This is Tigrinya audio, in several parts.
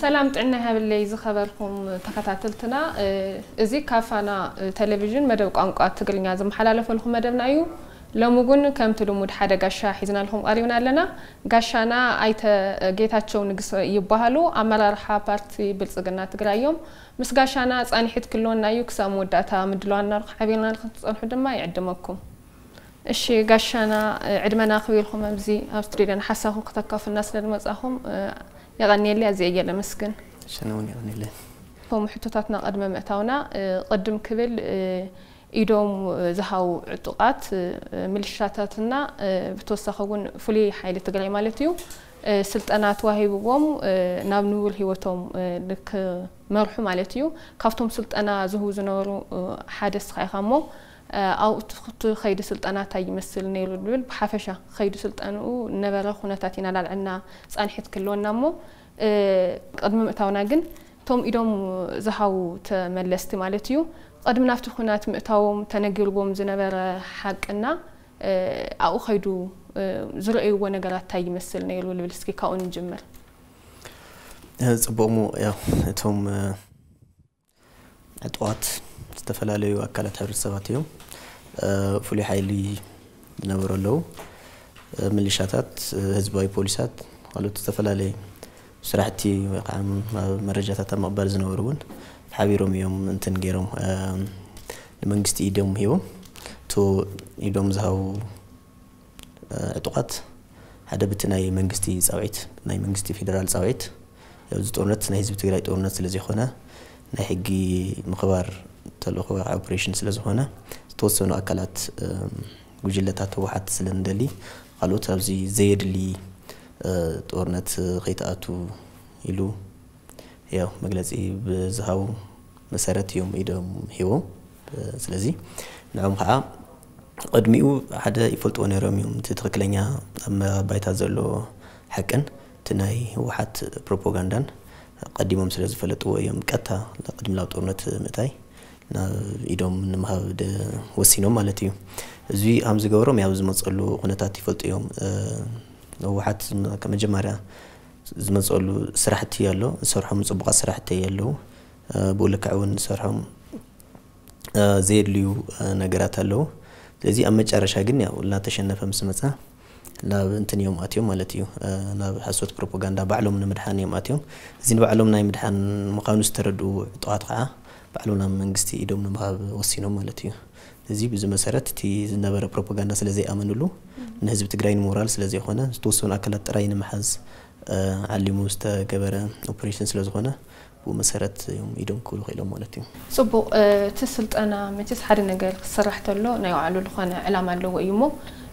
ሰላም ጥዕና ይሃብለይ ዝኸበርኩም ተኸታተልትና። እዚ ካብ ፋና ቴሌቪዥን መደብ ቋንቋ ትግርኛ ዝመሓላለፈልኩም መደብና እዩ። ሎሚ እውን ከምቲ ልሙድ ሓደ ጋሻ ሒዝናልኩም ቀሪብና ኣለና። ጋሻና ኣይተ ጌታቸው ንግስ ይበሃሉ። ኣመራርሓ ፓርቲ ብልጽግና ትግራይ እዮም። ምስ ጋሻና ጻንሒት ክልወና እዩ። ክሳብ መወዳእታ ምድላዋና ሓቢርና ንክትጸንሑ ድማ ይዕድመኩም። እሺ ጋሻና፣ ዕድመና ክቢርኩም ኣብዚ ኣብ ስቱዲዮና ሓሳኹ ክተካፍልና ስለ ዝመጻኹም የቐንየለይ፣ ኣዝየ እየ ለመስግን። እሺ፣ ኣነ እውን የቐንየለይ። እቶም ሕቶታትና ቅድሚ ምእታውና፣ ቅድም ክብል ኢዶም ዝሃው ዕጡቓት ምልሻታትና ብተወሳኺ እውን ፍሉይ ሓይሊ ትግራይ ማለት እዩ ስልጠና ተዋሂብዎም ናብ ንቡር ህይወቶም ክመርሑ ማለት እዩ። ካብቶም ስልጠና ዝህቡ ዝነበሩ ሓደ እስኻ ኢኻ እሞ ኣብኡ እቲ ከይዲ ስልጠና እንታይ ይመስል ነይሩ ዝብል ብሓፈሻ ከይዲ ስልጠንኡ ነበረ ኩነታት ኢና ላልዕልና ጻንሒት ክህልወና እሞ ቅድሚ ምእታውና ግን እቶም ኢዶም ዝሃቡ ተመለስቲ ማለት እዩ ቅድሚ ናብቲ ኩናት ምእታዎም ተነጊርዎም ዝነበረ ሓቅና ኣብኡ ከይዱ ዝረእይዎ ነገራት እንታይ ይመስል ነይሩ ዝብል እስኪ ካብኡ ንጅምር። ጽቡቕ እሞ ያው እቶም ዕጡቓት ዝተፈላለዩ ኣካላት ሕብረተሰባት እዮም። ፍሉይ ሓይሊ ዝነበሩ ኣለዉ፣ ምልሻታት፣ ህዝባዊ ፖሊሳት፣ ካልኦት ዝተፈላለየ ስራሕቲ ወይ ከዓ መረጃታት ኣብ ምቕባል ዝነበሩ እውን ሓቢሮም እዮም እንትን ገይሮም ንመንግስቲ ኢዶም ሂቦም። እቶ ኢዶም ዝሃቡ ዕጡቓት ሓደ ብቲ ናይ መንግስቲ ፃውዒት ናይ መንግስቲ ፌደራል ፃውዒት ኣብዚ ጦርነት ናይ ህዝቢ ትግራይ ጦርነት ስለ ዘይኮነ ናይ ሕጊ ምኽባር ተልእኾ ወይ ከዓ ኦፕሬሽን ስለ ዝኾነ ዝተወሰኑ ኣካላት ጉጅለታት ህወሓት ስለ ንደሊ ካልኦት ኣብዚ ዘየድሊ ጦርነት ከይተኣቱ ኢሉ ያው መግለፂ ብዝሃቡ መሰረት እዮም ኢዶም ሂቦም። ስለዚ ንዕኦም ከዓ ቅድሚኡ ሓደ ይፈልጥዎ ነይሮም እዮም። እቲ ትኽክለኛ ኣብ ባይታ ዘሎ ሓቅን እቲ ናይ ህወሓት ፕሮፓጋንዳን ቀዲሞም ስለ ዝፈለጥዎ እዮም ቀጥታ ቅድሚ ናብ ጦርነት ምእታይ ናብ ኢዶም ንምሃብ ወሲኖም ማለት እዩ። እዚ ከም ዝገበሮም ያው ዝመፀሉ ኩነታት ይፈልጡ እዮም። ህወሓት መጀመርያ ዝመፀሉ ስራሕቲ ኣሎ፣ ዝሰርሖም ፅቡቓት ስራሕቲ ኣለዉ። ብኡ ልክዕ እውን ዝሰርሖም ዘየድልዩ ነገራት ኣለዉ። ስለዚ ኣብ መጨረሻ ግን ያው እናተሸነፈ ምስ መፀ ናብ እንትን እዮም ኣትዮም ማለት እዩ። ናብ ሓሶት ፕሮፓጋንዳ ባዕሎም ንምድሓን እዮም ኣትዮም። እዚ ንባዕሎም ናይ ምድሓን ምዃኑ ዝተረድኡ ዕጡቓት ከዓ ባዕሎም ናብ መንግስቲ ኢዶም ንምሃብ ወሲኖም ማለት እዩ። እዚ ብዚ መሰረት እቲ ዝነበረ ፕሮፓጋንዳ ስለ ዘይኣመንሉ ንህዝቢ ትግራይ ንሞራል ስለ ዘይኮነ ዝተወሰኑ ኣካላት ጥራይ ንምሓዝ ዓሊሙ ዝተገበረ ኦፕሬሽን ስለ ዝኾነ ብኡ መሰረት እዮም ኢዶም ክብሉ ክኢሎም ማለት እዩ። ፅቡቕ። እቲ ስልጠና መቸስ ሓደ ነገር ክስራሕ ተሎ ናይ ባዕሉ ዝኾነ ዕላማ ኣለዎ እዩ እሞ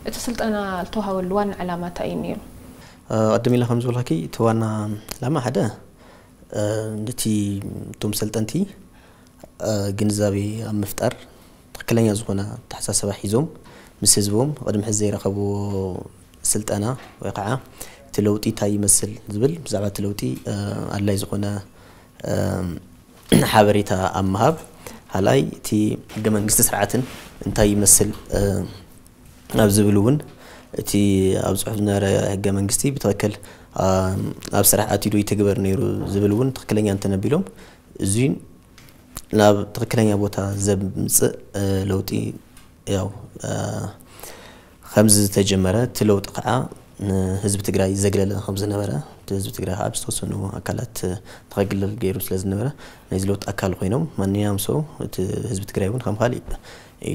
እቲ ስልጠና ዝተዋሃበሉ ዋና ዕላማ እንታይ እዩ ነይሩ? ቅድም ኢለ ከም ዝበልካኪ እቲ ዋና ዕላማ ሓደ ነቲ እቶም ሰልጠንቲ ግንዛቤ ኣብ ምፍጣር ትኽክለኛ ዝኾነ ኣተሓሳስባ ሒዞም ምስ ህዝቦም ቅድሚ ሕዚ ዘይረኸብዎ ስልጠና ወይ ከዓ እቲ ለውጢ እንታይ ይመስል ዝብል ብዛዕባ እቲ ለውጢ ኣድላይ ዝኾነ ሓበሬታ ኣብ ምሃብ ካልኣይ እቲ ሕገ መንግስቲ ስርዓትን እንታይ ይመስል ኣብ ዝብል እውን እቲ ኣብ ፅሑፍ ዝነበረ ሕገ መንግስቲ ብትኽክል ኣብ ስራሕ ኣትዩ ዶ ይትግበር ነይሩ ዝብል እውን ትኽክለኛ እንተነቢሎም እዙይ ናብ ትኽክለኛ ቦታ ዘምፅእ ለውጢ ያው ከምዚ ዝተጀመረ እቲ ለውጢ ከዓ ንህዝቢ ትግራይ ዘግለለ ከም ዝነበረ እቲ ህዝቢ ትግራይ ከዓ ብዝተወሰኑ ኣካላት ተኸግለል ገይሩ ስለ ዝነበረ ናይዚ ለውጢ ኣካል ኮይኖም ማንኛውም ሰው እቲ ህዝቢ ትግራይ እውን ከም ካሊእ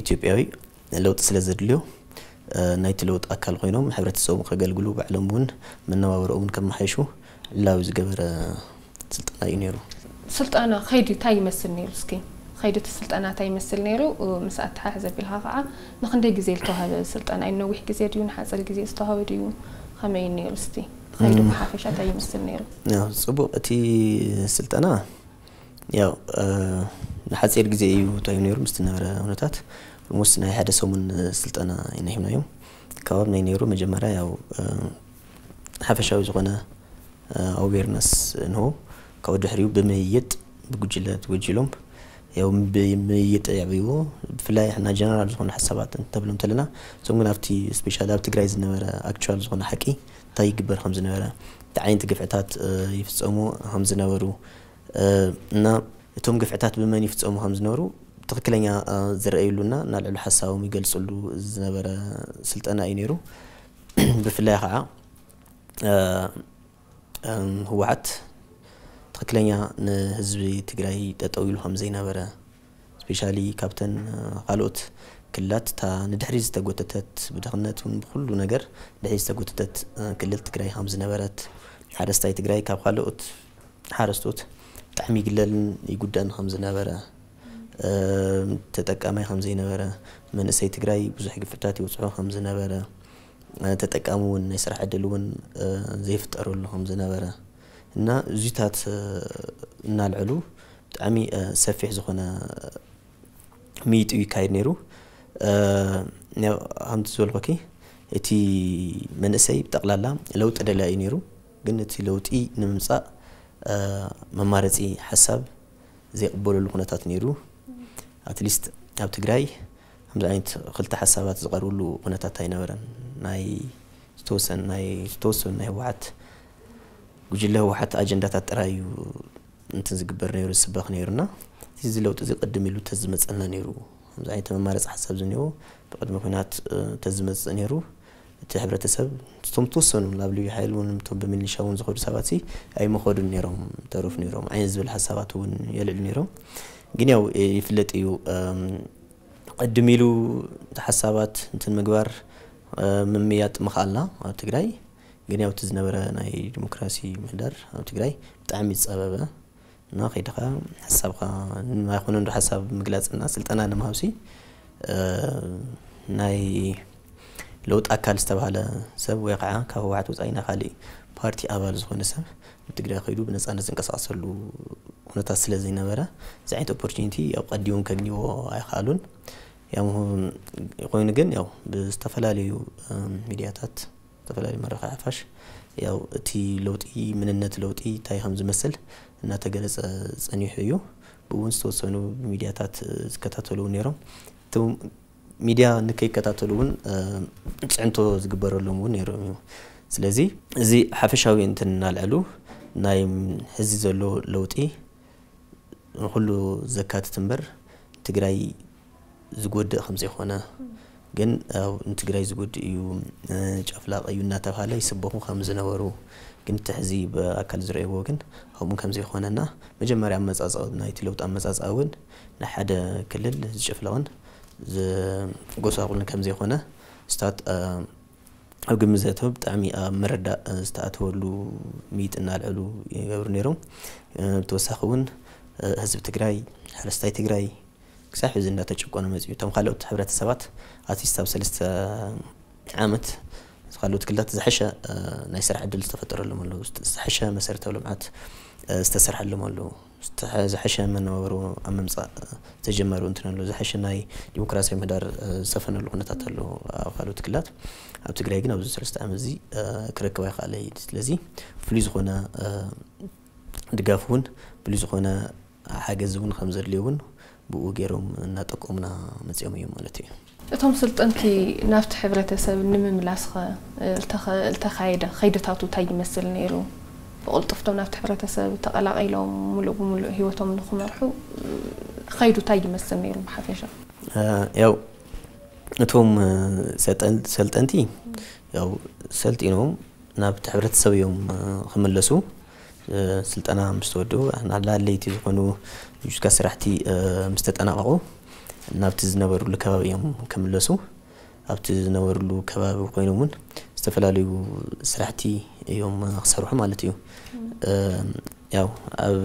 ኢትዮጵያዊ ለውጢ ስለ ዘድልዮ ናይቲ ለውጢ ኣካል ኮይኖም ሕብረተሰቦም ከገልግሉ ባዕሎም እውን መነባብሮኦም እውን ከመሓይሹ ዕላዊ ዝገበረ ስልጠና እዩ ነይሩ። ስልጠና ከይዲ እንታይ ይመስል ነይሩ? እስኪ ከይዲ እቲ ስልጠና እንታይ ይመስል ነይሩ? ምስ ኣተሓሕዘ ቢልካ ከዓ ንክንደይ ግዜ ዝተዋሃበ ስልጠና እዩ? ነዊሕ ግዜ ድዩ ንሓፂር ግዜ ዝተዋሃበ ድዩ? ከመይ እዩ ነይሩ? እስቲ ከይዲ ብሓፈሻ እንታይ ይመስል ነይሩ? ያው ፅቡቅ እቲ ስልጠና ያው ንሓፂር ግዜ እዩ እንታይ ነይሩ ምስ ዝነበረ ኩነታት ኦልሞስት ናይ ሓደ ሰሙን ስልጠና ኢና ሂብናዮም። ከባቢ ናይ ነይሩ መጀመርያ ያው ሓፈሻዊ ዝኾነ ኣዌርነስ ንሆ ካብኡ ድሕሪኡ ብምይይጥ ብጉጅለ ተጎጅሎም ያው ምይይጥ የዕብይዎ። ብፍላይ ሕና ጀነራል ዝኾኑ ሓሳባት እንተብሎም እንተለና፣ እዞም ግን ኣብቲ ስፔሻሊ ኣብ ትግራይ ዝነበረ ኣክቹዋል ዝኾነ ሓቂ እንታይ ይግበር ከም ዝነበረ፣ እንታይ ዓይነት ግፍዕታት ይፍፀሙ ከም ዝነበሩ እና እቶም ግፍዕታት ብመን ይፍፀሙ ከም ዝነበሩ ትኽክለኛ ዝረኣይሉና እናልዕሉ ሓሳቦም ይገልፅሉ ዝነበረ ስልጠና እዩ ነይሩ። ብፍላይ ከዓ ህወሓት ትኽክለኛ ንህዝቢ ትግራይ ጠጠው ኢሉ ከም ዘይነበረ፣ ስፔሻሊ ካብተን ካልኦት ክልላት እታ ንድሕሪ ዝተጎተተት፣ ብድኽነት እውን ብኩሉ ነገር ድሕሪ ዝተጎተተት ክልል ትግራይ ከም ዝነበረት፣ ሓረስታይ ትግራይ ካብ ካልኦት ሓረስቶት ብጣዕሚ ይግለልን ይጉዳን ከም ዝነበረ፣ ተጠቃማይ ከም ዘይነበረ፣ መንእሰይ ትግራይ ብዙሕ ግፍዕታት ይውፅሖ ከም ዝነበረ፣ ተጠቃሚ እውን ናይ ስራሕ ዕድል እውን ዘይፍጠረሉ ከም ዝነበረ እና እዚታት እናልዕሉ ብጣዕሚ ሰፊሕ ዝኾነ ምይይጥ እዩ ይካየድ ነይሩ። ከምቲ ዝበልኩኪ እቲ መንእሰይ ብጠቕላላ ለውጢ ደላይ እዩ ነይሩ። ግን እቲ ለውጢ ንምምፃእ መማረፂ ሓሳብ ዘይቕበለሉ ኩነታት ነይሩ። ኣትሊስት ኣብ ትግራይ ከምዚ ዓይነት ክልተ ሓሳባት ዝቐርብሉ ኩነታት ኣይነበረን። ናይ ዝተወሰኑ ናይ ዝተወሰኑ ናይ ህወሓት ጉጅለ ህወሓት ኣጀንዳታት ጥራይ እዩ እንትን ዝግበር ነይሩ ዝስበኽ ነይሩና እዚ ለውጢ እዚ ቅድም ኢሉ ተዝመፀልና ነይሩ። ከምዚ ዓይነት መማረፂ ሓሳብ ዝኒኦ ብቅድሚ ኩናት ተዝመፅእ ነይሩ። እቲ ሕብረተሰብ እቶም ተወሰኑ ናብ ልዩ ሓይል እውን እቶም ብሚሊሻ እውን ዝኸዱ ሰባት ሲ ኣይመኸዱን ነይሮም ተረፉ ነይሮም ዓይነት ዝብል ሓሳባት እውን የልዕሉ ነይሮም። ግን ያው ይፍለጥ እዩ። ቅድም ኢሉ ሓሳባት እንትን ምግባር ምምያጥ ምኽኣልና ኣብ ትግራይ ግን ያው እቲ ዝነበረ ናይ ዲሞክራሲ ምህዳር ኣብ ትግራይ ብጣዕሚ ዝፀበበ እና ከይድኻ ሓሳብካ ኣይኮነ እንዶ ሓሳብ ምግላፅና ስልጠና ንምሃብሲ ናይ ለውጥ ኣካል ዝተባሃለ ሰብ ወይ ከዓ ካብ ህወሓት ወፃኢ ናይ ካሊእ ፓርቲ ኣባል ዝኾነ ሰብ ንትግራይ ከይዱ ብነፃነት ዝንቀሳቀሰሉ ኩነታት ስለ ዘይነበረ እዚ ዓይነት ኦፖርቹኒቲ ያው ቀዲሞም ከግኝዎ ኣይኸኣሉን። ያው ኮይኑ ግን ያው ብዝተፈላለዩ ሚዲያታት ዝተፈላለዩ መራኸቢ ሓፋሽ ያው እቲ ለውጢ ምንነት ለውጢ እንታይ ከም ዝመስል እናተገለፀ ፀኒሑ እዩ። ብእውን ዝተወሰኑ ሚዲያታት ዝከታተሉ እውን ነይሮም። እቶም ሚዲያ ንከይከታተሉ እውን ፅዕንቶ ዝግበረሎም እውን ነይሮም እዩ። ስለዚ እዚ ሓፈሻዊ እንትን እናልዐሉ ናይ ሕዚ ዘሎ ለውጢ ንኩሉ ዘካትት እምበር ትግራይ ዝጎድእ ከም ዘይኮነ ግን ንትግራይ ዝጎድእ እዩ ጨፍላቕ እዩ እናተባሃለ ይስበኹ ከም ዝነበሩ ግን እቲ ሕዚ ብኣካል ዝረእዎ ግን ከምኡ ከም ዘይኮነና መጀመርያ ኣመፃፅኣ ናይቲ ለውጢ ኣመፃፅኣ እውን ንሓደ ክልል ዝጨፍለቕን ዝጎሳቑልን ከም ዘይኮነ ስታት ኣብ ግምት ዘእተወ ብጣዕሚ ኣብ ምርዳእ ዝተኣተወሉ ምይይጥ እናልዐሉ ይገብሩ ነይሮም። ብተወሳኺ እውን ህዝቢ ትግራይ ሓረስታይ ትግራይ ክሳብ ሕዚ እንዳተጨቆነ መፅዩ እቶም ካልኦት ሕብረተሰባት ኣትሊስት ኣብ ሰለስተ ዓመት ካልኦት ክልላት ዝሓሸ ናይ ስራሕ ዕድል ዝተፈጠረሎም ኣለዉ ዝሓሸ መሰረታዊ ልምዓት ዝተሰርሐሎም ኣለዉ ዝሓሸ መነባብሮ ኣብ ምምፃእ ዝተጀመሩ እንትን ኣለዉ ዝሓሸ ናይ ዲሞክራሲያዊ ምህዳር ዝሰፈነሉ ኩነታት ኣለዉ ኣብ ካልኦት ክልላት ኣብ ትግራይ ግን ኣብዚ ሰለስተ ዓመት እዚ ክረክብ ኣይከኣለ እዩ ስለዚ ፍሉይ ዝኾነ ድጋፍ እውን ፍሉይ ዝኾነ ሓገዝ እውን ከም ዘድልዮ እውን ብኡ ገይሮም እናጠቆሙና መፅኦም እዮም ማለት እዩ። እቶም ስልጠንቲ ናብቲ ሕብረተሰብ ንምምላስኸ ዝተኻየደ ከይድታቱ እንታይ ይመስል ነይሩ? ብቕልጡፍቶም ናብቲ ሕብረተሰብ ተቐላቒሎም ሙሉእ ብሙሉእ ህይወቶም ንክመርሑ ከይዱ እንታይ ይመስል ነይሩ ብሓፈሻ? ያው እቶም ሰልጠንቲ ያው ሰልጢኖም ናብቲ ሕብረተሰብ እዮም ክምለሱ። ስልጠና ምስ ተወድኡ ኣድለይቲ ዝኾኑ ሎጂስቲካ ስራሕቲ ምስ ተጠናቐቑ ናብቲ ዝነበርሉ ከባቢ እዮም ክምለሱ። ኣብቲ ዝነበርሉ ከባቢ ኮይኖም እውን ዝተፈላለዩ ስራሕቲ እዮም ክሰርሑ ማለት እዩ። ያው ኣብ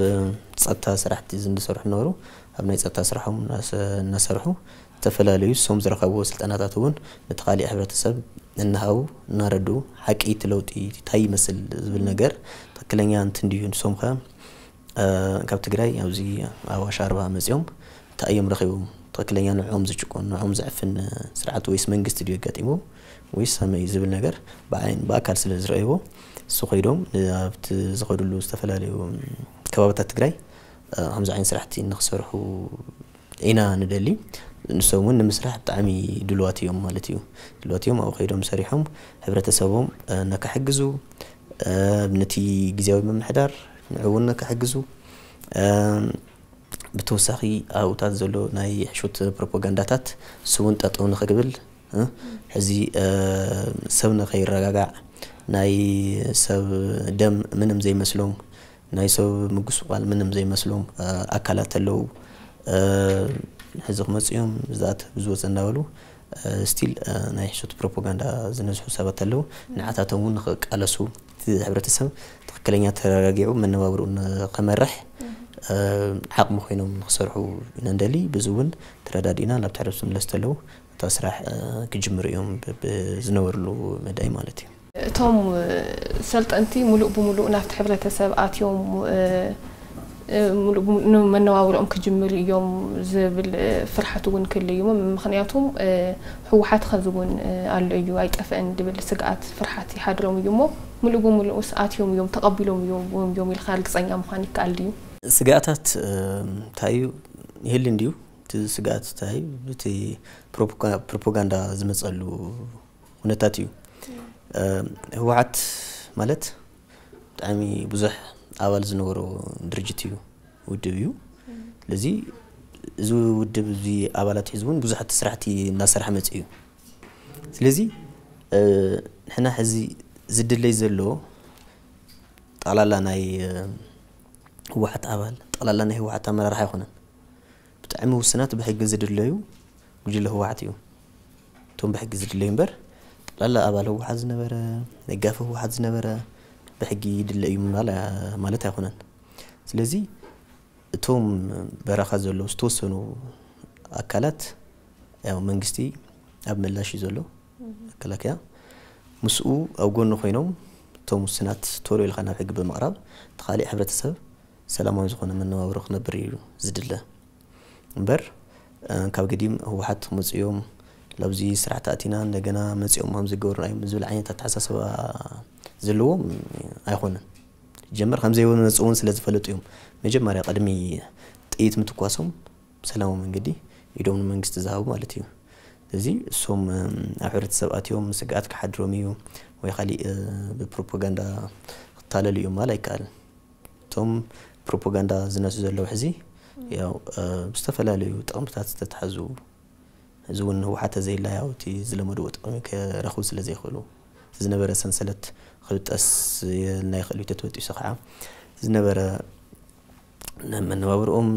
ፀጥታ ስራሕቲ ዝሰርሑ ነበሩ። ኣብ ናይ ፀጥታ ስራሖም እናሰርሑ ዝተፈላለዩ እሶም ዝረኸብዎ ስልጠናታት እውን ነቲ ካሊእ ሕብረተሰብ እናሃቡ እናረድኡ ሓቂ እቲ ለውጢ እንታይ ይመስል ዝብል ነገር ትክክለኛ እንትን ድዩ ንሶም ከ ካብ ትግራይ ኣብዚ ኣዋሽ ኣርባ መፂኦም እንታይ እዮም ረኺቦም ትክክለኛ ንዕኦም ዝጭቆን ንዕኦም ዘዕፍን ስርዓት ወይስ መንግስቲ ድዩ ኣጋጢሞ ወይስ ከመይ ዝብል ነገር ብዓይን ብኣካል ስለ ዝረእይዎ እሱ ከይዶም ኣብቲ ዝኸድሉ ዝተፈላለዩ ከባብታት ትግራይ ከምዚ ዓይነት ስራሕቲ ንክሰርሑ ኢና ንደሊ። ንሶም እውን ንምስራሕ ብጣዕሚ ድልዋት እዮም ማለት እዩ። ድልዋት እዮም ኣብኡ ከይዶም ሰሪሖም ሕብረተሰቦም ነካሕግዙ፣ ነቲ ግዜያዊ ምምሕዳር ንዕውን ነካሕግዙ። ብተወሳኺ ኣብኡታት ዘሎ ናይ ሕሹት ፕሮፓጋንዳታት ስውን ጠጠው ንክብል፣ ሕዚ ሰብ ንከይረጋጋዕ፣ ናይ ሰብ ደም ምንም ዘይመስሎም፣ ናይ ሰብ ምጉስቋል ምንም ዘይመስሎም ኣካላት ኣለዉ። ሕዚ ክመፅኡ እዮም፣ ብዝኣተ ብዝወፀ እናበሉ ስቲል ናይ ሕሹት ፕሮፓጋንዳ ዝነዝሑ ሰባት ኣለዉ። ንዓታቶም እውን ንክቃለሱ፣ እቲ ሕብረተሰብ ትክክለኛ ተረጋጊዑ መነባብርኡ ንክመርሕ ዓቕሚ ኮይኖም ንክሰርሑ ኢና ንደሊ። ብዚ እውን ተረዳዲእና ናብ ትሕረብ ዝምለስ ተለዉ እታ ስራሕ ክጅምሩ እዮም ብዝነበርሉ መዳይ ማለት እዩ። እቶም ሰልጠንቲ ሙሉእ ብሙሉእ ናብቲ ሕብረተሰብ ኣትዮም ንመነባብሮኦም ክጅምሩ እዮም ዝብል ፍርሓት እውን ክህሉ እዩ። ምክንያቱም ህወሓት ከዚ እውን ኣሎ እዩ ኣይጠፍእን ዝብል ስግኣት ፍርሓት ይሓድሮም እዩ እሞ ሙሉእ ብሙሉእስ ኣትዮም እዮም ተቐቢሎም እዮም ኢልካ ርግፀኛ ምዃን ይከኣል ድዩ? ስግኣታት እንታይ እዩ ይህል እንድዩ እቲ ስግኣት እንታይ እቲ ፕሮፓጋንዳ ዝመፀሉ ኩነታት እዩ። ህወሓት ማለት ብጣዕሚ ብዙሕ ኣባል ዝነበሮ ድርጅት እዩ፣ ውድብ እዩ። ስለዚ እዚ ውድብ እዚ ኣባላት ሒዙ እውን ብዙሓት ስራሕቲ እናሰርሐ መፅኡ እዩ። ስለዚ ንሕና ሕዚ ዝድለይ ዘሎ ጠቕላላ ናይ ህወሓት ኣባል፣ ጠቕላላ ናይ ህወሓት ኣመራርሓ ኣይኮነን። ብጣዕሚ ውስናት ብሕጊ ዝድለዩ ጉጅለ ህወሓት እዩ። እቶም ብሕጊ ዝድለዩ እምበር ጠቕላላ ኣባል ህወሓት ዝነበረ፣ ደጋፊ ህወሓት ዝነበረ ብሕጊ ይድለ እዩ ምባል ማለት ኣይኮነን። ስለዚ እቶም በረኻ ዘለዉ ዝተወሰኑ ኣካላት ያው መንግስቲ ኣብ ምላሽ እዩ ዘሎ መከላከያ ምስኡ ኣብ ጎኑ ኮይኖም እቶም ውስናት ቶሎ ኢልካ ናብ ሕጊ ብምቕራብ እቲ ካሊእ ሕብረተሰብ ሰላማዊ ዝኾነ መነባብሮ ክነብር እዩ ዝድለ እምበር ካብ ገዲም ህወሓት ክመፁ እዮም ላብዚ ስራሕ ተኣቲና እንደገና መፂኦም ከም ዝገብሩና እዮም ዝብል ዓይነት ኣተሓሳስባ ዘለዎም ኣይኮነን። ጀመር ከም ዘይመፁ እውን ስለ ዝፈለጡ እዮም መጀመርያ ቅድሚ ጥይት ምትኳሶም ብሰላማዊ መንገዲ ኢዶም ንመንግስቲ ዝሃቡ ማለት እዩ። እዚ እሶም ኣብ ሕብረተሰብ ኣትዮም ስግኣት ክሓድሮም እዩ ወይ ካሊእ ብፕሮፓጋንዳ ክታለሉ እዮም ማል ኣይከኣልን። እቶም ፕሮፓጋንዳ ዝነሱ ዘለዉ ሕዚ ያው ብዝተፈላለዩ ጥቕምታት ዝተትሓዙ እዚ እውን ህወሓት ተዘይላ ያው እቲ ዝለመድዎ ጥቕሚ ክረኽቡ ስለ ዘይኽእሉ እቲ ዝነበረ ሰንሰለት ክብጠስ የልና ይኽእል እዩ ተትበጢሱ ከዓ ዝነበረ መነባብርኦም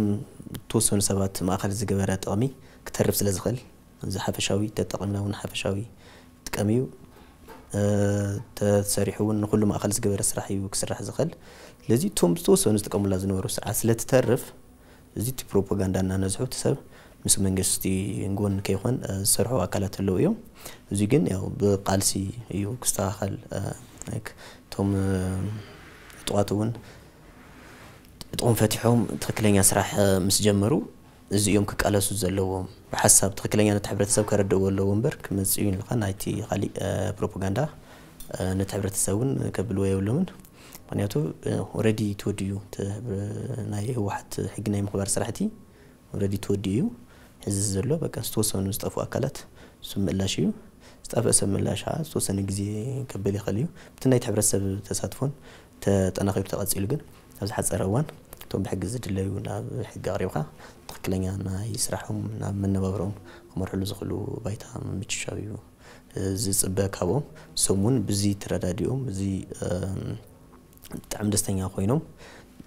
ተወሰኑ ሰባት ማእኸል ዝገበረ ጥቕሚ ክተርፍ ስለ ዝኽእል እዚ ሓፈሻዊ ተጠቒምና እውን ሓፈሻዊ ጥቀም እዩ ተሰሪሑ እውን ንኩሉ ማእኸል ዝገበረ ስራሕ እዩ ክስራሕ ዝኽእል ስለዚ እቶም ዝተወሰኑ ዝጥቀሙላ ዝነበሩ ስርዓት ስለትተርፍ እዚ እቲ ፕሮፓጋንዳ እናነዝሑ እቲ ሰብ ምስ መንግስቲ ጎን ከይኾን ዝሰርሑ ኣካላት ኣለዉ እዮም። እዚ ግን ያው ብቃልሲ እዩ ክስተኻኸል እቶም ዕጡቓት እውን ዕጥቖም ፈቲሖም ትኽክለኛ ስራሕ ምስ ጀመሩ እዚ እዮም ክቃለሱ ዘለዎም። ብሓሳብ ትኽክለኛ ነቲ ሕብረተሰብ ከረድእዎ ኣለዎ እምበር ክመፅእ እዩ ኢልካ ናይቲ ካሊእ ፕሮፓጋንዳ ነቲ ሕብረተሰብ እውን ከብልዎ የብሎምን። ምክንያቱ ኦረዲ ተወዲኡ ናይ ህወሓት ሕጊ ናይ ምኽባር ስራሕቲ ኦረዲ ተወዲኡ እዩ። ሕዚ ዘሎ በቃ ዝተወሰኑ ዝጠፍኡ ኣካላት እሱ ምላሽ እዩ። ዝጠፍአ ሰብ ምላሽ ከዓ ዝተወሰነ ግዜ ከብል ይኽእል እዩ። ብቲ ናይቲ ሕብረተሰብ ተሳትፎን ተጠናኺሩ ተቐፂሉ ግን ኣብ ዝሓፀረ እዋን እቶም ብሕጊ ዝድለዩ ናብ ሕጊ ኣቕሪብካ ትኽክለኛ ናይ ስራሖም ናብ መነባብሮም ክመርሕሉ ዝኽእሉ ባይታ ምምችሻው እዩ ዝፅበ ካብኦም። እሶም እውን ብዚ ተረዳዲኦም እዚ ብጣዕሚ ደስተኛ ኮይኖም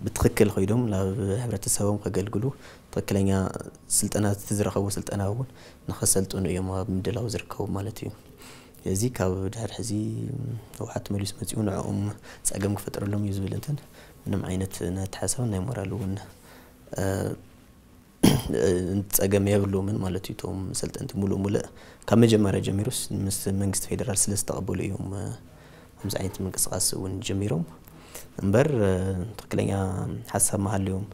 ብትኽክል ኮይዶም ናብ ሕብረተሰቦም ከገልግሉ ትኽክለኛ ስልጠና እቲ ዝረኸቡ ስልጠና እውን ንኸሰልጥኑ እዮም ኣብ ምድላው ዝርከቡ ማለት እዩ። እዚ ካብ ድሕር ሕዚ ህወሓት መሊሱ መፂኡ ንዕኦም ፀገም ክፈጥረሎም እዩ ዝብል እንትን ምንም ዓይነት ናይ ኣተሓሳሰብን ናይ ሞራል እውን ጸገም የብሎምን ማለት እዩ። እቶም ሰልጠንቲ ሙሉእ ሙሉእ ካብ መጀመርያ ጀሚሩስ ምስ መንግስቲ ፌደራል ስለ ዝተቐበሉ እዮም ከምዚ ዓይነት ምንቅስቃስ እውን ጀሚሮም እምበር ትክክለኛ ሓሳብ መሃልዮም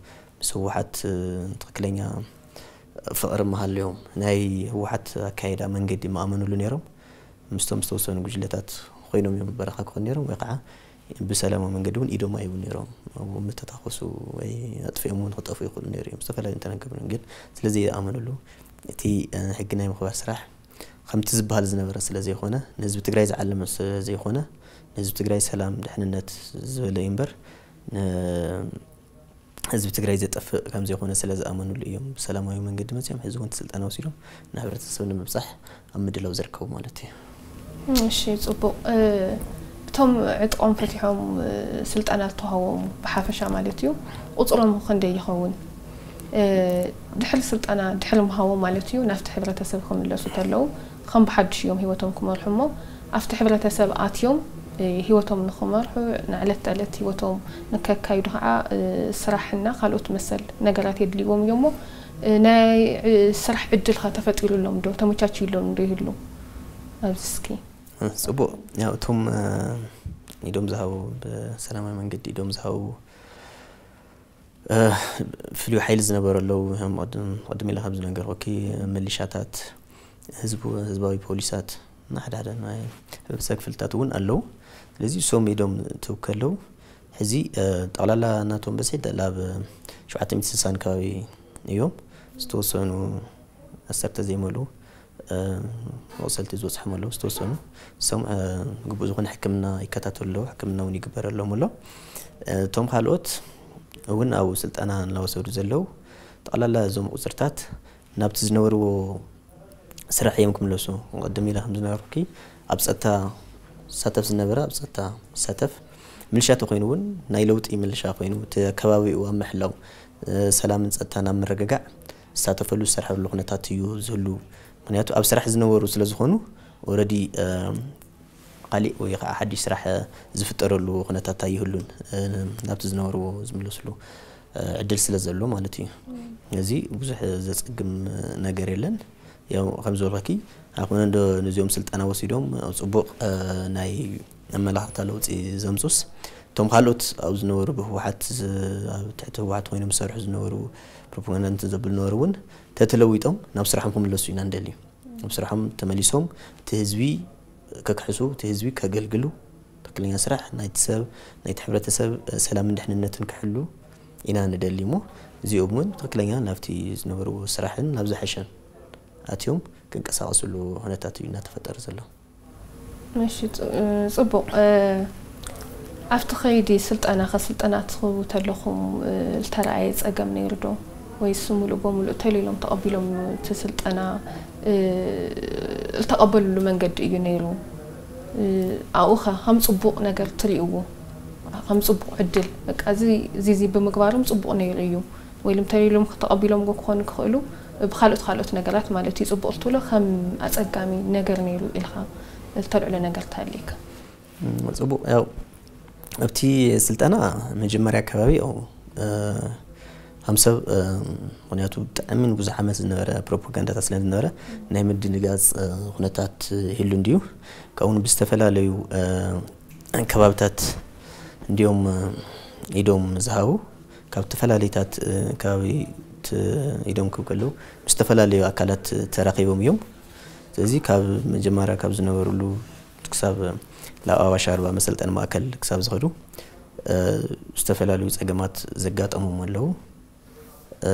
ምስ ህወሓት ትክክለኛ ፍቕሪ መሃልዮም ናይ ህወሓት ኣካየዳ መንገዲ መኣመንሉ ነይሮም ምስቶም ዝተወሰኑ ጉጅለታት ኮይኖም እዮም በረኻ ክኾኑ ነይሮም ወይ ከዓ ብሰላማዊ መንገዲ እውን ኢዶም ኣይህቡን ነይሮም። ኣብኡ ምተታኾሱ ወይ ኣጥፊኦም እውን ክጠፍኡ ይኽእሉ ነይሩ እዮም፣ ዝተፈላለዩ እንተነገሩን። ግን ስለዘይኣመኑሉ፣ እቲ፣ እ፣ ሕጊ ናይ ምኽባር ስራሕ ከምቲ ዝበሃል ዝነበረ ስለ ዘይኮነ፣ ንህዝቢ ትግራይ ዝዓለመ ስለ ዘይኮነ፣ ንህዝቢ ትግራይ ሰላም፣ ድሕንነት ዝበለ እዩ እምበር፣ ን-፣ ህዝቢ ትግራይ ዘጠፍእ ከም ዘይኮነ ስለ ዝኣመኑሉ እዮም ብሰላማዊ መንገዲ መፅዮም። ሕዚ እውን እቲ ስልጠና ወሲዶም ንሕብረተሰብ ንምብፃሕ ኣብ ምድላው ዝርከቡ ማለት እዩ። እሺ፣ ጽቡቕ። እ፣ እቶም ዕጥቆም ፈቲሖም፣ እ፣ ስልጠና ዝተዋህቦም ብሓፈሻ ማለት እዩ፣ ቁጽሮም ክንደይ ይኸውን? እ፣ ድሕሪ ስልጠና፣ ድሕሪ ምሃቦም ማለት እዩ፣ ናብቲ ሕብረተሰብ ክምለሱ ተለዉ፣ ከም ብሓድሽ እዮም ህይወቶም ክመርሑ እሞ፣ ኣብቲ ሕብረተሰብ ኣትዮም፣ እ፣ ህይወቶም ንኽመርሑ፣ ንዕለት ተዕለት ህይወቶም ንከካይዱ ኸዓ፣ እ፣ ስራሕና ካልኦት መሰል ነገራት የድልይዎም እዮም እሞ፣ እ፣ ናይ፣ እ፣ ስራሕ ዕድል ኸ ተፈጢሩሎም ዶ? ተመቻችዩሎም ዶ ይህሉ? ኣብዚ እስኪ። እ፣ ጽቡቕ። ያው እቶም፣ እ፣ ኢዶም ዝሃቡ፣ ብሰላማዊ መንገዲ ኢዶም ዝሃቡ፣ እ፣ ፍሉይ ሓይሊ ዝነበሩ ኣለዉ። ከም ቅድም፣ ቅድም ኢለ ከም ዝነገርኩኪ፣ ሚሊሻታት፣ ህዝቡ፣ ህዝባዊ ፖሊሳት፣ እና ሓደ ሓደ ናይ ሕብረተሰብ ክፍልታት እውን ኣለዉ። ስለዚ እሶም ኢዶም ትውከ ኣለዉ። ሕዚ፣ እ፣ ጠቕላላ ናቶም በዝሒ ላብ ሸውዓተ ሚእቲ ስሳን ከባቢ እዮም። ዝተወሰኑ ዓሰርተ ዘይመልኡ፣ እ፣ መቑሰልቲ ዝበፅሖም ኣለዉ። ዝተወሰኑ እሶም፣ እ፣ ግቡእ ዝኾነ ሕክምና ይከታተሉ ኣለዉ። ሕክምና እውን ይግበረሎም ኣሎ። እ፣ እቶም ካልኦት እውን ኣብኡ ስልጠና እናወሰዱ ዘለዉ፣ ጠቕላላ እዞም ቁፅርታት ናብቲ ዝነበርዎ ስራሕ እዮም ክምለሱ። ቅድም ኢለ ከም ዝነበርኩኪ፣ ኣብ ጸጥታ ዝሳተፍ ዝነበረ ኣብ ጸጥታ ይሳተፍ። ምልሻ ተኾይኑ እውን ናይ ለውጢ ምልሻ ኮይኑ፣ እቲ ከባቢኡ ኣብ ምሕላው፣ እ፣ ሰላምን ጸጥታን ኣብ ምርግጋዕ ዝሳተፈሉ ዝሰርሐሉ ኩነታት እዩ ዝህሉ። ምኽንያቱ ኣብ ስራሕ ዝነበሩ ስለ ዝኾኑ፣ ኦረዲ፣ እ፣ ካሊእ ወይ ከዓ ሓድሽ ስራሕ ዝፍጠረሉ ኩነታት ኣይህሉን፣ እ፣ ናብቲ ዝነበርዎ ዝምለስሉ፣ እ፣ ዕድል ስለ ዘሎ ማለት እዩ። እዚ ብዙሕ ዘጸግም ነገር የለን። ያው ከም ዝበልኩኪ፣ ኣይኮነ እንዶ ነዚኦም ስልጠና ወሲዶም ኣብ ጽቡቕ፣ እ፣ ናይ ኣመላኽታ ለውጢ ዘምጹስ፣ እቶም ካልኦት ኣብ ዝነበሩ ብህወሓት ዝ-፣ ኣብ ትሕቲ ህወሓት ኮይኖም ዝሰርሑ ዝነበሩ ፕሮፓጋንዳ እንትን ዘብሉ ዝነበሩ እውን ተተለዊጦም ናብ ስራሖም ክምለሱ ኢና ንደሊ። ኣብ ስራሖም ተመሊሶም እቲ ህዝቢ ከክሕሱ፣ እቲ ህዝቢ ከገልግሉ፣ ትክክለኛ ስራሕ ናይቲ ሰብ፣ ናይቲ ሕብረተሰብ፣ እ፣ ሰላምን ድሕንነትን ክሕሉ ኢና ንደሊ እሞ፣ እዚኦም እውን ትክክለኛ ናብቲ ዝነበርዎ ስራሕን ናብ ዝሐሸን ኣትዮም ክንቀሳቐስሉ ኩነታት እዩ እናተፈጠረ ዘሎ። እሺ፣ ጽ-፣ እ፣ ጽቡቕ። እ፣ ኣብቲ ከይዲ ስልጠና ከስልጠና ትኽቡ ተለኹም፣ እ፣ ዝተረኣየ ጸገም ነይሩ ዶ? ወይስ ምሉእ ብምሉእ ተሊሎም ተቐቢሎም እቲ ስልጠና፣ እ፣ ዝተቐበልሉ መንገዲ እዩ ነይሩ? እ፣ ኣብኡ ኸ ከም ጽቡቕ ነገር ትርእይዎ? ከም ጽቡቕ ዕድል፣ በቃ፣ እዚ፣ እዚ፣ እዚ ብምግባሮም ጽቡቕ ነይሩ እዩ። ወይ ኢሎም ተሊሎም ተቐቢሎም ክኾኑ ክኽእሉ፣ ብኻልኦት፣ ካልኦት ነገራት ማለት እዩ። ጽቡቕ ትብሎ ከም ኣጸጋሚ ነገር ነይሩ ኢልካ እተልዕሎ ነገር ተሃልየካ? እም፣ ጽቡቕ። ያው ኣብቲ ስልጠና መጀመርያ ኣከባቢ፣ ያው፣ እ፣ ከም ሰብ፣ እ፣ ምኽንያቱ ብጣዕሚ ንብዙሕ ዓመት ዝነበረ ፕሮፓጋንዳታት ስለ ዝነበረ ናይ ምድንጋጽ፣ እ፣ ኩነታት ይህሉ እንድዩ። ካብኡ ብዝተፈላለዩ፣ እ፣ ከባብታት እንድዮም፣ እ፣ ኢዶም ዝሃቡ። ካብ ዝተፈላለዩታት፣ እ፣ ከባቢ ት-፣ ኢዶም ክብ ከለዉ ምስ ዝተፈላለዩ ኣካላት ተራኺቦም እዮም። ስለዚ ካብ መጀመርያ ካብ ዝነበሩሉ ክሳብ ላብ ኣዋሽ ኣርባ መሰልጠኒ ማእከል ክሳብ ዝኸዱ፣ እ፣ ዝተፈላለዩ ጸገማት ዘጋጠሞም ኣለዉ። እ፣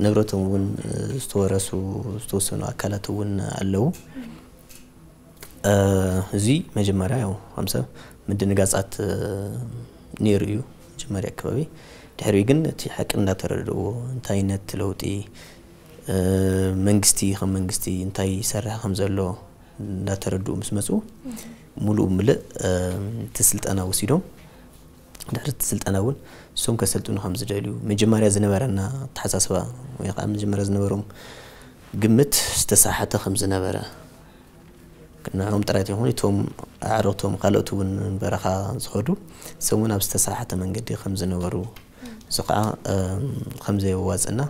ንብረቶም እውን፣ እ፣ ዝተወረሱ ዝተወሰኑ ኣካላት እውን ኣለዉ። እ፣ እዚ መጀመርያ ያው ከም ሰብ ምድንጋጻት፣ እ፣ ነይሩ እዩ መጀመርያ ኣከባቢ። ድሕሪኡ ግን እቲ ሓቂ እንዳተረድእዎ፣ እንታይነት ለውጢ፣ እ፣ መንግስቲ ከም መንግስቲ እንታይ ይሰርሕ ከም ዘሎ እንዳተረድኡ ምስ መጹ፣ ሙሉእ ብምልእ፣ እ፣ እቲ ስልጠና ወሲዶም፣ ድሕሪ እቲ ስልጠና እውን እሶም ከሰልጥኑ ከም ዝደልዩ፣ መጀመርያ ዝነበረና ኣተሓሳስባ ወይ ከዓ መጀመርያ ዝነበሮም ግምት ዝተሳሓተ ከም ዝነበረ፣ ንዕኦም ጥራይ ዘይኮኑ፣ እቶም ኣዕሩኽቶም ካልኦት እውን በረኻ ዝኸዱ፣ እሶም እውን ኣብ ዝተሳሓተ መንገዲ ከም ዝነበሩ፣ እዚ ከዓ፣ እም፣ ከም ዘየዋፅእና፣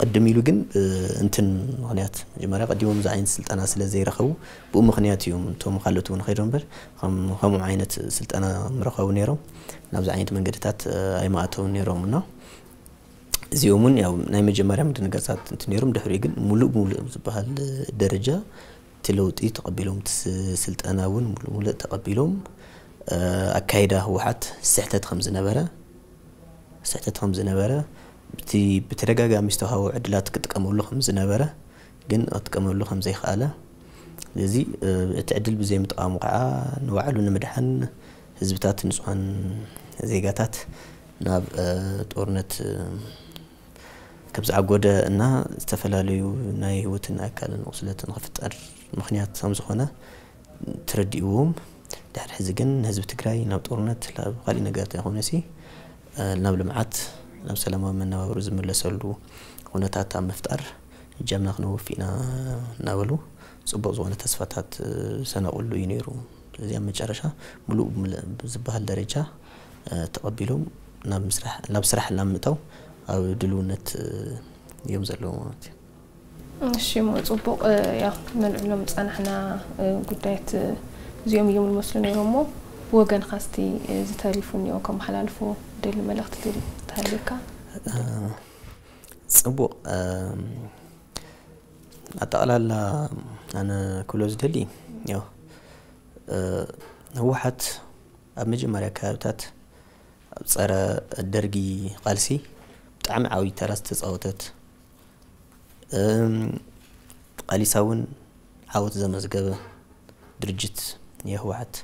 ቅድም ኢሉ ግን፣ እ፣ እንትን ምኽንያት፣ መጀመርያ ቀዲሞም እዚ ዓይነት ስልጠና ስለ ዘይረኸቡ፣ ብኡ ምኽንያት እዮም እቶም ካልኦት እውን ኸይዶም እምበር፣ ከም-፣ ከምኡ ዓይነት ስልጠና ምረኸቡ ነይሮም፣ ናብዚ ዓይነት መንገድታት፣ እ፣ ኣይመኣተውን ነይሮም እና፣ እዚኦም እውን ያው ናይ መጀመርያ ምድንጋጻት እንትን ነይሮም፣ ድሕሪኡ ግን ሙሉእ ብሙሉእ ዝበሃል ደረጃ እቲ ለውጢ ተቐቢሎም፣ እቲ ስ-፣ ስልጠና እውን ሙሉእ ሙሉእ ተቐቢሎም፣ ኣካይዳ ህወሓት ስሕተት ከም ዝነበረ ስሕተት ከም ዝነበረ፣ እቲ ብተደጋጋሚ ዝተዋህቦ ዕድላት ክጥቀመሉ ከም ዝነበረ፣ ግን ክጥቀመሉ ከም ዘይከኣለ፣ ስለዚ እቲ ዕድል ብዘይምጥቃሙ ከዓ ንባዕሉ ንምድሓን ህዝብታት፣ ንፁሃን ዜጋታት ናብ ጦርነት ከም ዝዓጎደ እና ዝተፈላለዩ ናይ ህይወትን ኣካልን ቁስለትን ክፍጠር ምክንያት ከም ዝኾነ ተረዲእዎም። ድሕሪ ሕዚ ግን ንህዝቢ ትግራይ ናብ ጦርነት፣ ናብ ካሊእ ነገር ተይኮነሲ ናብ ልምዓት፣ ናብ ሰላማዊ መነባብሮ ዝምለሰሉ ኩነታት ኣብ ምፍጣር እጃምና ክነወፊ ኢና እናበሉ ፅቡቕ ዝኾነ ተስፋታት ሰነቕሉ እዩ ነይሩ። ስለዚ ኣብ መጨረሻ ሙሉእ ብዝበሃል ደረጃ ተቐቢሎም ናብ ስራሕ ናብ ምእታው ኣብ ድልውነት እዮም ዘለዉ ማለት እዩ። እሺ፣ እሞ ፅቡቕ። ያው ነልዕሎም ዝፀናሕና ጉዳያት እዚኦም እዮም ዝመስሉ ነይሮም። እሞ ብወገንካ እስቲ ዝተሪፉ እኒኦ ከመሓላልፎ ደሊ መልእኽቲ ተሃልየካ? ፅቡቕ። ኣጠቕላላ ኣነ ክብሎ ዝደሊ፣ ያው ህወሓት ኣብ መጀመርያ ከባብታት ኣብ ፀረ ደርጊ ቃልሲ ብጣዕሚ ዓብዪ ተራ ዝተፃወተት፣ ቃሊሳ እውን ዓወት ዘመዝገበ ድርጅት የህወሓት።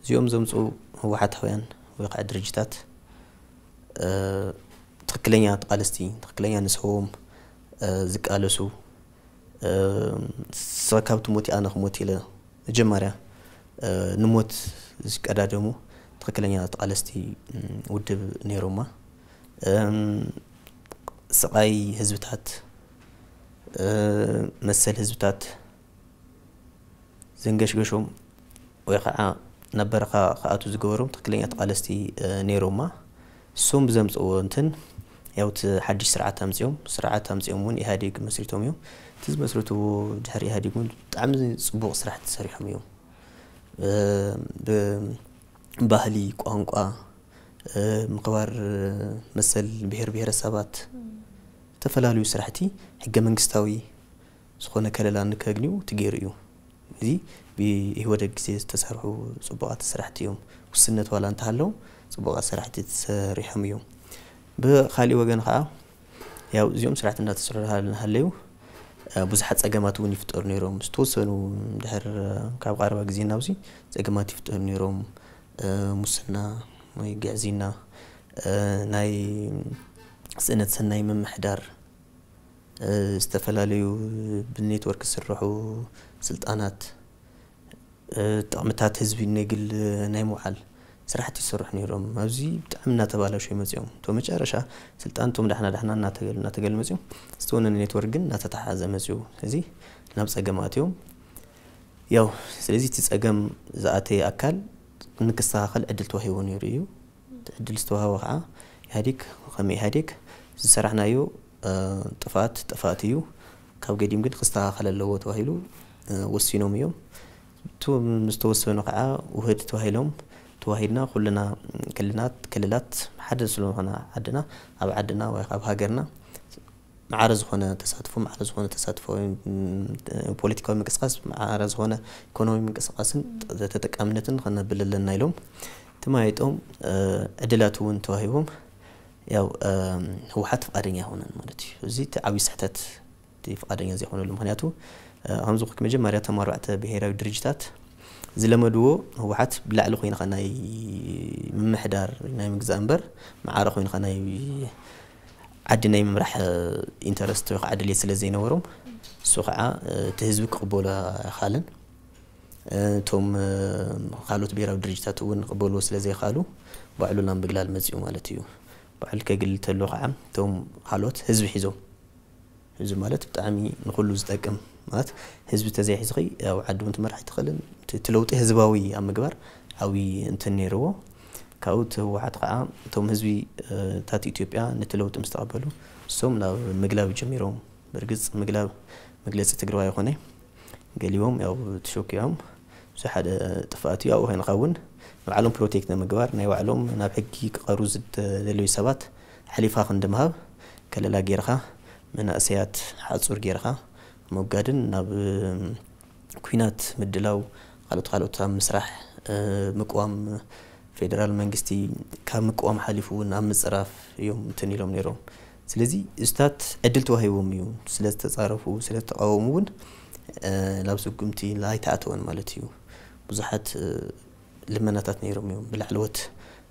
እዚኦም ዘምፅኡ ህወሓታውያን ወይ ከዓ ድርጅታት ትክክለኛ ተቃለስቲ፣ ትክክለኛ ንስዎም ዝቃለሱ፣ ስኻ ካብ ትሞት ኣነ ክሞት ኢለ መጀመርያ ንሞት ዝቀዳደሙ ትክክለኛ ተቃለስቲ ውድብ ነይሮማ። ስቓይ ህዝብታት፣ መሰል ህዝብታት ዘንገሽገሾም ወይ ከዓ ናብ በረኻ ክኣቱ ዝገበሮም ትክክለኛ ተቃለስቲ ነይሮማ። እሶም ብዘምፅዎ እንትን ያው እቲ ሓድሽ ስርዓት ኣምፅኦም፣ ስርዓት ኣምፅኦም እውን ኢህኣዴግ መስሪቶም እዮም። እቲ ዝመስረትዎ ድሕሪ ኢህኣዴግ እውን ብጣዕሚ ፅቡቕ ስራሕ ተሰሪሖም እዮም። ብባህሊ፣ ቋንቋ፣ ምኽባር መሰል ብሄር ብሄረሰባት፣ ዝተፈላለዩ ስራሕቲ ሕገ መንግስታዊ ዝኾነ ከለላ ንከግንዩ ትገይሩ እዩ። እዚ ብኢህወደግ ግዜ ዝተሰርሑ ፅቡቓት ስራሕቲ እዮም። ውስነት ዋላ እንተሃለዎም ፅቡቓት ስራሕቲ ተሰሪሖም እዮም። ብካሊእ ወገን ከዓ ያው እዚኦም ስራሕቲ እንዳተሰርሑ እናሃለዩ ብዙሓት ፀገማት እውን ይፍጠሩ ነይሮም። ዝተወሰኑ ድሕር ካብ ቀረባ ግዜ ናብዚ ፀገማት ይፍጠሩ ነይሮም። ሙስና ወይ ግዕዝይና፣ ናይ ስእነት ሰናይ ምምሕዳር፣ ዝተፈላለዩ ብኔትወርክ ዝስርሑ ስልጣናት፣ ጥቕምታት ህዝቢ ንግል ናይ ምውዓል ስራሕቲ ይሰርሑ ነይሮም። ኣብዚ ብጣዕሚ እናተባላሸው መፅኦም። እቶ መጨረሻ ስልጣን እቶም ዳሕና ዳሕና እናተገል እናተገል መፅኦም፣ ዝተወነነ ኔትወርክ ግን እናተተሓሓዘ መፅኡ። እዚ ናብ ፀገም ኣትዮም። ያው ስለዚ እቲ ፀገም ዝኣተየ ኣካል ንክስተኻኸል ዕድል ተዋሂቡ ነይሩ እዩ። ዕድል ዝተዋህቦ ከዓ ኢህኣዴግ ከም ኢህኣዴግ ዝሰራሕናዮ ጥፍኣት ጥፍኣት እዩ፣ ካብ ገዲም ግን ክስተኻኸል ኣለዎ ተባሂሉ ወሲኖም እዮም። እቱ ምስ ተወሰኑ ከዓ ውህድ ተባሂሎም ተዋሂድና ኩልና ክልላት ክልላት ሓደ ስለዝኾነ ዓድና ኣብ ዓድና ወይ ኣብ ሃገርና ማዕረ ዝኾነ ተሳትፎ ማዕረ ዝኾነ ተሳትፎ ፖለቲካዊ ምንቅስቃስ ማዕረ ዝኾነ ኢኮኖሚ ምንቅስቃስን ተጠቃምነትን ከነብል ኣለና ኢሎም ተማይጦም ዕድላት እውን ተዋሂቦም ያው ህወሓት ፍቃደኛ ኣይኮነን ማለት እዩ። እዚ እቲ ዓብዪ ስሕተት እቲ ፍቃደኛ ዘይኮነሉ ምክንያቱ ከምዚ መጀመርያ ተማርባዕተ ብሄራዊ ድርጅታት ዝለመድዎ ህወሓት ብላዕሊ ኮይንካ ናይ ምምሕዳር ናይ ምግዛእ እምበር ማዕረ ኮይንካ ናይ ዓዲ ናይ ምምራሕ ኢንተረስት ወይ ከዓ ድሌት ስለ ዘይነበሮም እሱ ከዓ እቲ ህዝቢ ክቕበሎ ኣይኻልን። እቶም ካልኦት ብሄራዊ ድርጅታት እውን ክቕበልዎ ስለ ዘይኻሉ ባዕሉ ናብ ምግላል መፅኡ ማለት እዩ። ባዕሉ ከግልል ተሎ ከዓ እቶም ካልኦት ህዝቢ ሒዞም ህዝቢ ማለት ብጣዕሚ ንኩሉ ዝጠቅም ማለት ህዝቢ ተዘይሒዝኺ ኣብ ዓዲ እውን ትመራሕ ኣይትኽእልን። እቲ ለውጢ ህዝባዊ ኣብ ምግባር ዓብዪ እንትን ነይርዎ። ካብኡ እቲ ህወሓት ከዓ እቶም ህዝቢ ታት ኢትዮጵያ ነቲ ለውጢ ምስ ተቐበሉ እሶም ናብ ምግላብ ጀሚሮም። ብርግፅ ምግላብ መግለፂ ትግርባ ይኮነ ገሊቦም ያው ተሸኪዖም እዚ ሓደ ጥፍኣት እዩ። ኣብኡ ኮይንካ እውን ንባዕሎም ፕሮቴክት ንምግባር ናይ ባዕሎም ናብ ሕጊ ክቐሩ ዝደለዩ ሰባት ሓሊፋ ክንዲ ምሃብ ከለላ ጌርካ መናእሰያት ሓፁር ጌርካ ምውጋድን ናብ ኲናት ምድላው ካልኦት ኣብ ምስራሕ ምቅዋም ፌደራል መንግስቲ ካብ ምቅዋም ሓሊፉ እውን ኣብ ምፅራፍ እዮም እንትን ኢሎም ነይሮም። ስለዚ እዚታት ዕድል ተዋሂቦም እዩ፣ ስለዝተፃረፉ ስለዝተቃወሙ እውን ናብ ስጉምቲ ኣይተኣተወን ማለት እዩ። ብዙሓት ልመናታት ነይሮም እዮም። ብላዕለዎት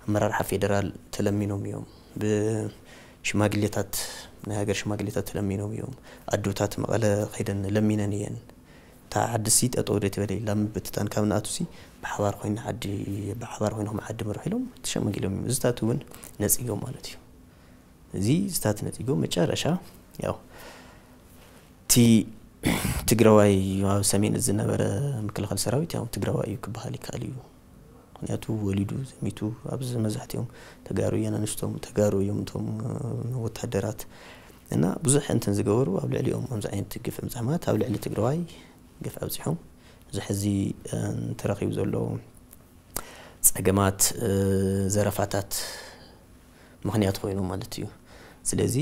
ኣመራርሓ ፌደራል ተለሚኖም እዮም። ብሽማግሌታት ናይ ሃገር ሽማግሌታት ተለሚኖም እዮም። ኣዶታት መቐለ ከይደን ለሚነን እየን። እታ ዓድሲ ጠጠው ዶ ትበለ ኢላ ምብትታን ካብ ንኣቱሲ ብሓባር ኮይና ዓዲ ብሓባር ኮይንኩም ዓዲ ምርሑ ኢሎም ተሸመጊሎም እዮም። እዚታት እውን ነፂጎም ማለት እዩ። እዚ እዚታት ነፂጎም መጨረሻ ያው እቲ ትግራዋይ ኣብ ሰሜን ዝነበረ ምክልኻል ሰራዊት ያው ትግራዋይ እዩ ክበሃል ይከኣል እዩ። ምክንያቱ ወሊዱ ዘሚቱ ኣብዚ መብዛሕትኦም ተጋሩ እየን ኣንስቶም ተጋሩ እዮም እቶም ወታደራት እና ብዙሕ እንትን ዝገበሩ ኣብ ልዕሊኦም ከምዚ ዓይነት ግፍ ምፅሕማት ኣብ ልዕሊ ትግራዋይ ግፍ ኣብፂሖም። እዚ ሕዚ ተረኺቡ ዘሎ ፀገማት ዘረፋታት ምኽንያት ኮይኑ ማለት እዩ። ስለዚ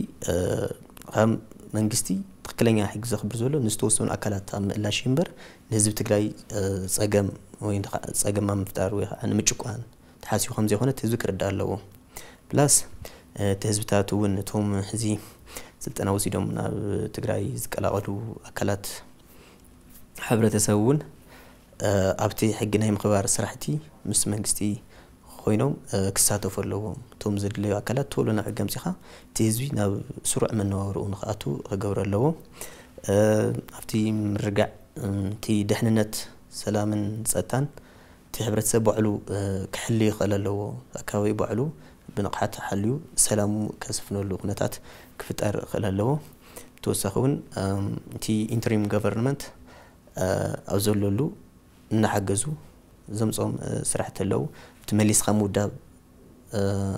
ከም መንግስቲ ትክክለኛ ሕጊ ዘኽብር ዘሎ ንዝተወሰኑ ኣካላት ኣብ ምእላሽ እምበር ንህዝቢ ትግራይ ፀገም ወይ ፀገም ኣብ ምፍጣር ወይ ከዓ ንምጭቋን ተሓሲቡ ከም ዘይኮነ ህዝቢ ክርዳእ ኣለዎ። ፕላስ እቲ ህዝብታት እውን እቶም ሕዚ ስልጠና ወሲዶም ናብ ትግራይ ዝቀላቐሉ ኣካላት ሕብረተሰብ እውን ኣብቲ ሕጊ ናይ ምኽባር ስራሕቲ ምስ መንግስቲ ኮይኖም ክሳተፉ ኣለዎም። እቶም ዘድለዩ ኣካላት ቶሎ ናብ ሕጊ ኣምፂኻ እቲ ህዝቢ ናብ ስሩዕ መነባብርኡ ንክኣቱ ክገብሩ ኣለዎ። ኣብቲ ምርጋዕ እቲ ደሕንነት ሰላምን ፀጥታን እቲ ሕብረተሰብ ባዕሉ ክሕሊ ይኽእል ኣለዎ። ኣካባቢ ባዕሉ ብንቕሓት ሓልዩ ሰላሙ ከስፍነሉ ኩነታት ክፍጠር ይኽእል ኣለዎ። ተወሳኺ እውን እቲ ኢንተሪም ገቨርንመንት ኣብ ዘለሉ እናሓገዙ ዘምፅኦም ስራሕቲ ኣለዉ። እቲ መሊስካ ምውዳብ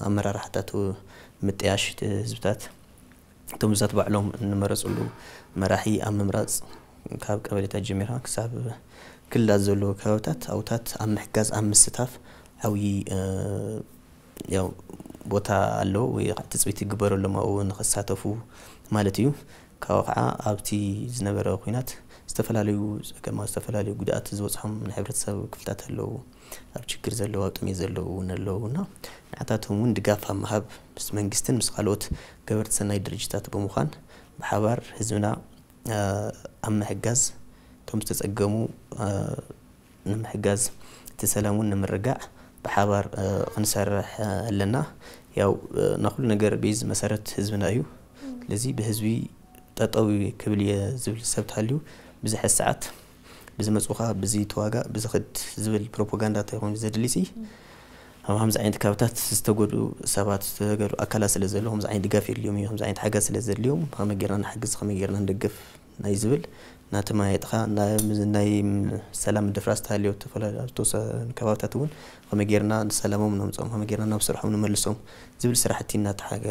ኣመራርሓታት ምጥያሽ ህዝብታት እቶም ህዝብታት ባዕሎም እንመረፅሉ መራሒ ኣብ ምምራፅ ካብ ቀበሌታት ጀሚርካ ክሳብ ክልላት ዘለዉ ከባብታት ኣውታት ኣብ ምሕጋዝ ኣብ ምስታፍ ዓብዪ ያው ቦታ ኣለዎ ወይ ትፅቢት ይግበረሎም ኣብኡ ንክሳተፉ ማለት እዩ። ካብኡ ከዓ ኣብቲ ዝነበረ ኩናት ዝተፈላለዩ ፀገማት ዝተፈላለዩ ጉድኣት ዝበፅሖም ናይ ሕብረተሰብ ክፍልታት ኣለዉ። ኣብ ችግር ዘለዉ ኣብ ጥሜት ዘለዉ እውን ኣለዉ እና ንዓታቶም እውን ድጋፍ ኣብ ምሃብ ምስ መንግስትን ምስ ካልኦት ገበርቲ ሰናይ ድርጅታት ብምዃን ብሓባር ህዝብና ኣብ ምሕጋዝ እቶም ዝተፀገሙ ንምሕጋዝ እቲ ሰላም እውን ንምርጋዕ ብሓባር ክንሰርሕ ኣለና። ያው ናኩሉ ነገር ቤዝ መሰረት ህዝብና እዩ። ስለዚ ብህዝቢ ጠጠው ክብል እየ ዝብል ሰብ ተሃልዩ ብዝሐ ሰዓት ብዝመፁኻ ብዚ ተዋጋእ ብዝኽድ ዝብል ፕሮፓጋንዳ ተይኮኑ ዘድሊ ሲ ኣብ ከምዚ ዓይነት ካብታት ዝተጎዱ ሰባት ዝተገዱ ኣካላት ስለ ዘለዉ ከምዚ ዓይነት ድጋፍ የድልዮም እዩ ከምዚ ዓይነት ሓገዝ ስለ ዘድልዮም ከመይ ጌርና ንሓግዝ ከመይ ጌርና ንደግፍ ናይ ዝብል ናተማየጥኻ ናይ ሰላም ድፍራስ ተሃልዮ ተፈላለዩ ኣብ ዝተወሰኑ ከባብታት እውን ከመይ ጌርና ንሰላሞም ነምፅኦም ከመይ ጌርና ናብ ስርሖም ንመልሶም ዝብል ስራሕቲ እናተሓገ